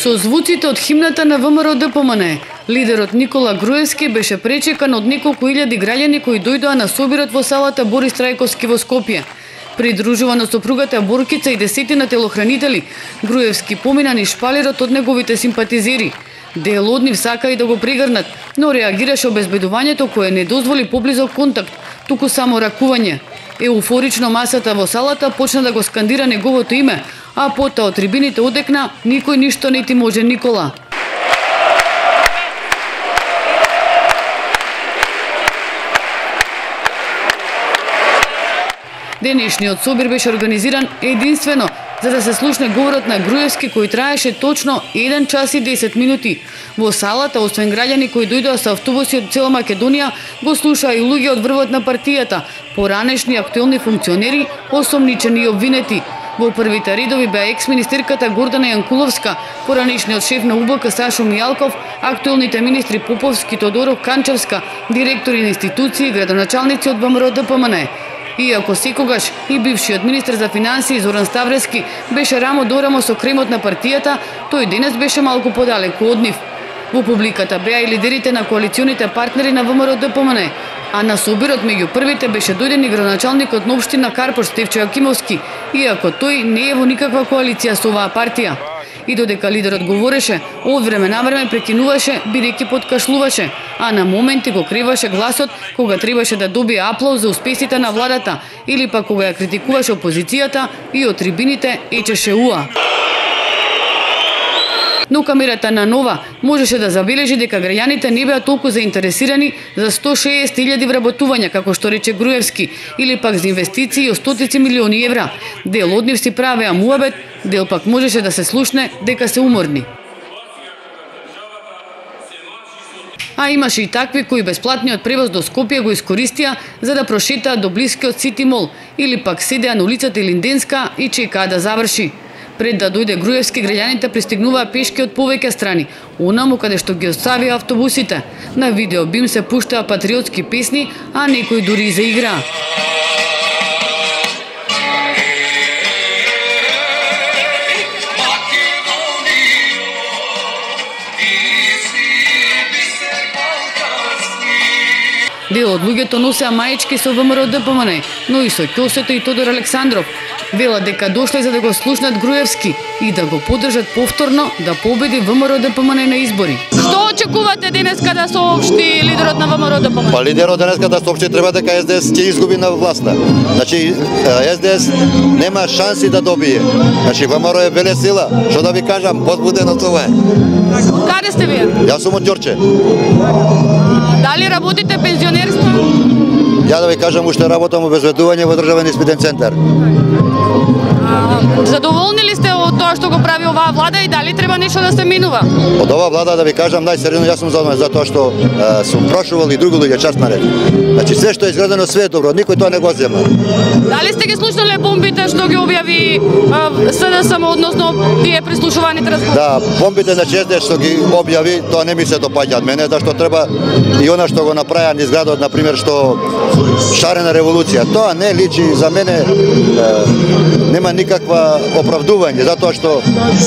Со звуците од химната на ВМРО-ДПМН, лидерот Никола Груевски беше пречекан од неколку илјади граѓани кои дојдоа на собирот во салата Борис Трајковски во Скопје. Придружуван од сопругата Боркица и десетина телохранители, Груевски помина низ шпалерот од неговите симпатизери. Дел од нив сака и да го прегрнат, но реагираше обезбедувањето кое не дозволи поблизок контакт, туку само ракување. Еуфорично масата во салата почна да го скандира неговото име, а потоа од трибините одекна никој ништо не ти може Никола. Денешниот собир беше организиран единствено за да се слушне говорот на Груевски кој траеше точно 1 час и 10 минути. Во салата, освен граѓани кои дојдоа со автобуси од цела Македонија, го слушаа и луѓе од врвот на партијата, поранешни актуелни функционери, осомничени и обвинети. Во првите редови беа екс-министерката Гордана Јанкуловска, поранешниот шеф на УБК Сашо Мијалков, актуелните министри Поповски, Тодоров, Канчевска, директори на институции и градоначалници од ВМРО-ДПМН. Иако секогаш и бившиот министер за финансии Зоран Ставрески беше рамо до рамо со кремот на партијата, тој денес беше малку подалеку од нив. Во публиката беа и лидерите на коалиционите партнери на ВМРО-ДПМН, а на собирот меѓу првите беше дојден и градоначалникот на општина Карпош Стефчо Јакимовски, иако тој не е во никаква коалиција со оваа партија. И додека лидерот говореше, од време на време прекинуваше, бидејќи подкашлуваше, а на моменти го криваше гласот кога требаше да добие аплауз за успесите на владата или пак кога ја критикуваше опозицијата и од трибините ечеше уа. Но камерата на Нова можеше да забележи дека граѓаните не беа толку заинтересирани за 160.000 вработувања, како што рече Груевски, или пак за инвестиции од стотици милиони евра. Дел од нив си правеа муабет, дел пак можеше да се слушне дека се уморни. А имаше и такви кои бесплатниот превоз до Скопје го искористија за да прошетаат до блискиот Сити Мол или пак седеа на улицата Илинденска и чекаа да заврши. Пред да дојде Груевски, граѓаните пристигнуваа пешки од повеќе страни, онаму каде што ги оставија автобусите. На видео бим се пуштаа патриотски песни, а некои дури и заиграа. Дел од луѓето носеа маечки со ВМРО-ДПМН, но и со ќосето и Тодор Александров. Велат дека дошле за да го слушнат Груевски и да го поддржат повторно да победи ВМРО-ДПМН на избори. Што очекувате денеска да соопшти лидерот на ВМРО-ДПМН? Па лидерот денеска да соопшти треба дека СДС ќе изгуби на власта. Значи СДС нема шанси да добие. Значи ВМРО е веле сила. Што да ви кажам, возбудено тоа е. Каде сте вие? Јас сум од Ѓорче. Дали работите пензионерство? Ја да ви кажам, уште работам обезбедување во државен испитен центар. Задоволни ли сте од тоа што го прави оваа влада и дали треба нешто да се менува? Од оваа влада да ви кажам најсериозно јас сум задоволен затоа што сум прошувал и други луѓе час наред. Значи све што е изградено све е добро, никој тоа не го зема. Дали сте ги слушнале бомбите што ги објави СДСМ односно тие прислушуваните разговори? Да, бомбите на СДС што ги објави, тоа не ми се допаѓа од мене, зашто треба и она што го направија низ градот, на пример што шарена револуција. Тоа не личи за мене, нема никаква оправдување, затоа што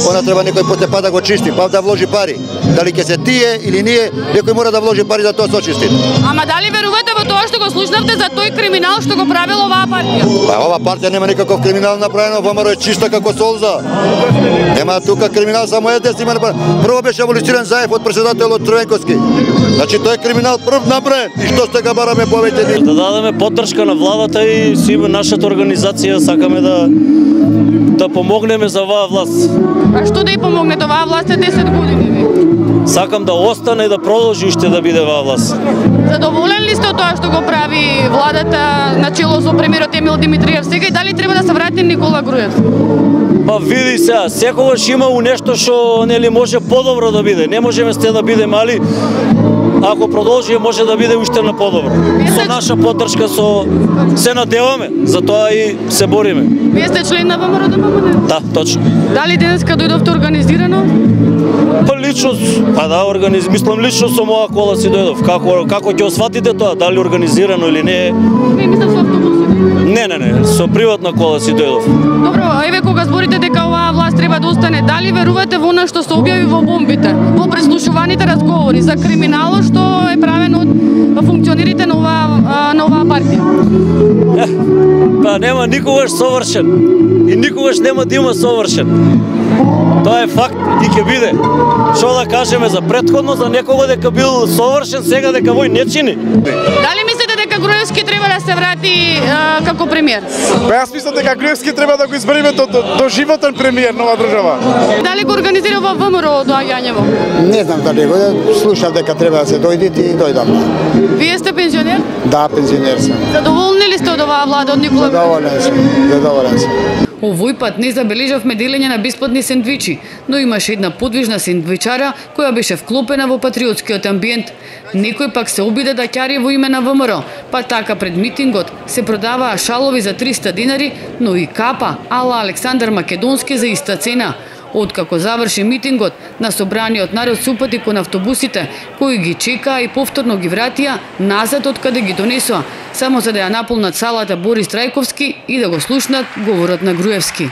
она треба некој потепа да го чисти, па да вложи пари. Дали ќе се тие или ние, некој мора да вложи пари за тоа се очисти. Ама дали верувате во тоа што го слушнавте за тој криминал што го правила оваа партија? Па оваа партија нема никаков криминал направено, ВМРО е чиста како солза. Нема тука криминал, само СДС има направено. Прво беше аболициран Заев од претседателот Црвенковски. Значи тој е криминал прв направен. И што сте га бараме повеќе? Да дадеме поддршка на владата и симе нашата организација сакаме да помогнеме за оваа власт. А што да и помогнете? Оваа власт е 10 години. Сакам да остане и да продолжи уште да биде оваа власт. Задоволен ли сте од тоа што го прави владата на чело со премиерот Емил Димитриев сега и дали треба да се врати Никола Груевски? Па види сега, секогаш има нешто што нели може подобро да биде. Не можеме сте да биде мали. Ако продолжи може да биде уште на подобро. Со наша поддршка се надеваме, затоа и се бориме. Вие сте член на ВМРО-ДПМН? Да, точно. Дали денеска дојдовте организирано? Па лично, мислам лично со моја кола си дојдов. Како ќе осватите тоа, дали организирано или не? Не, мислам со автобусите. Не, со приватна кола си дојдов. Добро, еве кога зборите дека оваа власт треба да остане, дали верувате во она што се објави во бомбите, во преслушуваните разговори за криминалот што е правено од функционерите на оваа партија? Па нема никогаш совршен и никогаш нема да има совршен. Тоа е факт и ќе биде. Што да кажеме за претходно, за некого дека бил совршен, сега дека вој не чини. Дали мислите дека Груевски треба да се врати како премиер? Па јас мислам дека Груевски треба да го избериме до животен премиер на оваа држава. Дали го организира во ВМРО доаѓањево? Не знам дали го слушав дека треба да се дојдете и дојдам. Вие сте пензионер? Да, пензионер сум. Задоволни ли сте од оваа влада од Никола? Задоволен сум. Овој пат не забележавме делење на бесплатни сендвичи, но имаше една подвижна сендвичара која беше вклопена во патриотскиот амбиент. Некој пак се обиде да ќари во име на ВМРО, па така пред митингот се продаваа шалови за 300 динари, но и капа ала Александар Македонски за иста цена. Откако заврши митингот, на собраниот народ се упати кон автобусите, кои ги чекаа и повторно ги вратија назад од каде ги донесоа, само за да ја наполнат салата Борис Трајковски и да го слушнат говорот на Груевски.